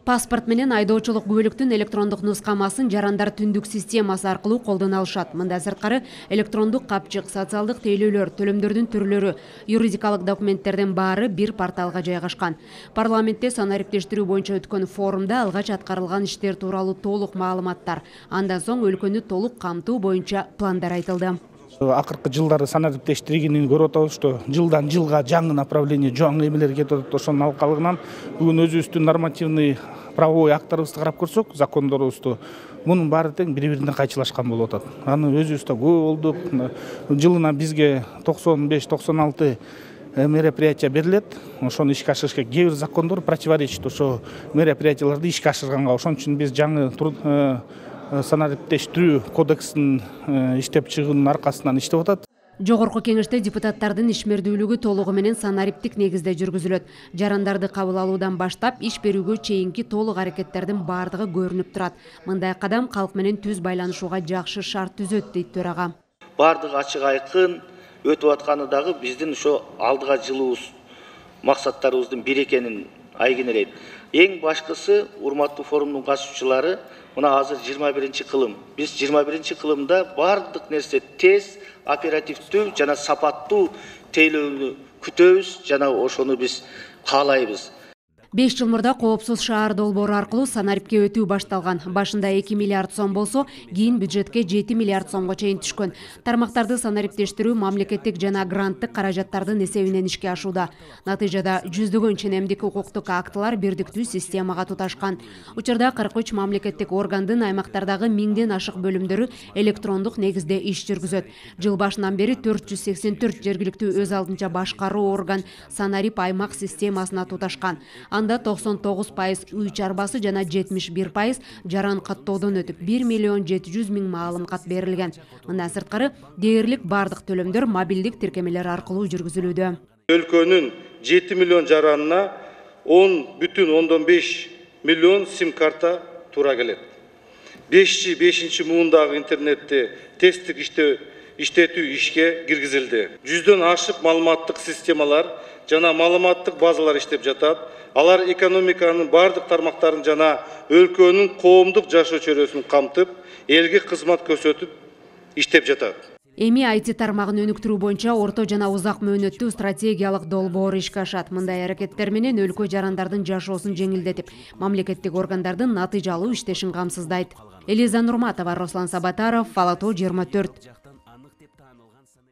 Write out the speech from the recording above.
Паспорт менен айдоочулук күбөлүктүн электрондук нускамасын жарандар түндүк системасы аркылуу колдоно алышат. Мындан сырткары электрондук капчык, социалдык тейлөөлөр, төлөмдөрдүн түрлөрү, юридикалык документтердин баары бир порталга жайгашкан. Парламентте санариптештирүү боюнча өткөн форумда алгач аткарылган иштер тууралуу толук маалыматтар, андан соң өлкөнү толук камтуу боюнча пландар айтылды. Акыркы жылдары санариптештирүүнү көрүп атабыз, что жылдан жылга жаңы направление, жаңы эмелер кетип атат. Ошонун алкалыгынан бүгүн өзүбүздүн нормативный правовой акттарыбызды карап көрсөк, закондорубузду, мунун баары тең бири-бирине кайчылашкан болуп атат. Аны өзүбүз да көп болдук. Жылына бизге 95-96 мероприятия берилет. Ошону ишке ашырышка кээ бир закондор противоречит ошо мероприятияларды ишке ашырганга. Ошон үчүн биз жаңы санариптештирүү кодексин иштеп чыгуунун аркасынан иштеп атат. Жогорку кеңеште депутаттардын ишмердүүлүгү толугу менен санариптик негизде жүргүзүлөт. Жарандарды кабыл алуудан баштап иш берүүгө чейинки толук аракеттердин баардыгы көрүнүп турат. Мындай кадам калк менен түз байланышууга жакшы шарт түзөт, дейт төрага. Баардыгы ачык айкын өтүп атканы дагы биздин ошо алдыга жылуубуз максаттарыбыздын бири экенин айгинелейт. Эң башкысы, урматтуу форумдун катышуучулары, мына азыр 21-кылым. Биз 21-кылымда бардык нерсе тез, оперативдүү жана сапаттуу тейлөөнү күтөбүз, жана ошону биз каалайбыз. 5 жыл мурда коопсуз шаар долбоору аркылуу санарипке өтүү башталган. Башында 2 миллиард сом болсо, кийин бюджетке 7 миллиард сомго чейин түшкөн. Тармактарды санариптештирүү мамлекеттик жана гранттык каражаттардын эсебинен ишке ашууда. Натыйжада жүздөгөн ченемдик укуктук актылар бирдиктүү системага туташкан. Учурда 43 мамлекеттик органдын аймактардагы 1000ден ашык бөлүмдөрү электрондук негизде иш жүргүзөт. Жыл башынан бери 484 жергиликтүү өз алдынча башкаруу орган санарип аймак системасына туташкан. Анда 99% үй чарбасы жана 71% жаран каттоодон өтүп 1.700.000 маалым кат берилген. Мындан сырткары дээрлик бардык төлөмдөр мобилдик тиркемелер аркылуу жүргүзүлүүдө. Өлкөнүн 7 миллион жаранына 10,5 миллион сим карта туура келет. 5 муундагы интернетти тесттик иштетүү ишке киргизилди. 100дөн ашык маалыматтык системалар жана маалыматтык базалар иштеп жатат. Алар экономиканын бардык тармактарын жана өлкөнүн коомдук жашоо чөйрөсүн камтып, элге кызмат көрсөтүп иштеп жатат. Эми IT тармагын өнүктүрүү боюнча орто жана узак мөөнөттүү стратегиялык долбоор ишке ашат. Мындай аракеттер менен өлкө жарандардын жашоосун жеңилдетип, мамлекеттик органдардын натыйжалуу иштешин камсыздайт. Элиза Нурматова, Руслан Сабатаров, Фала Тоо 24.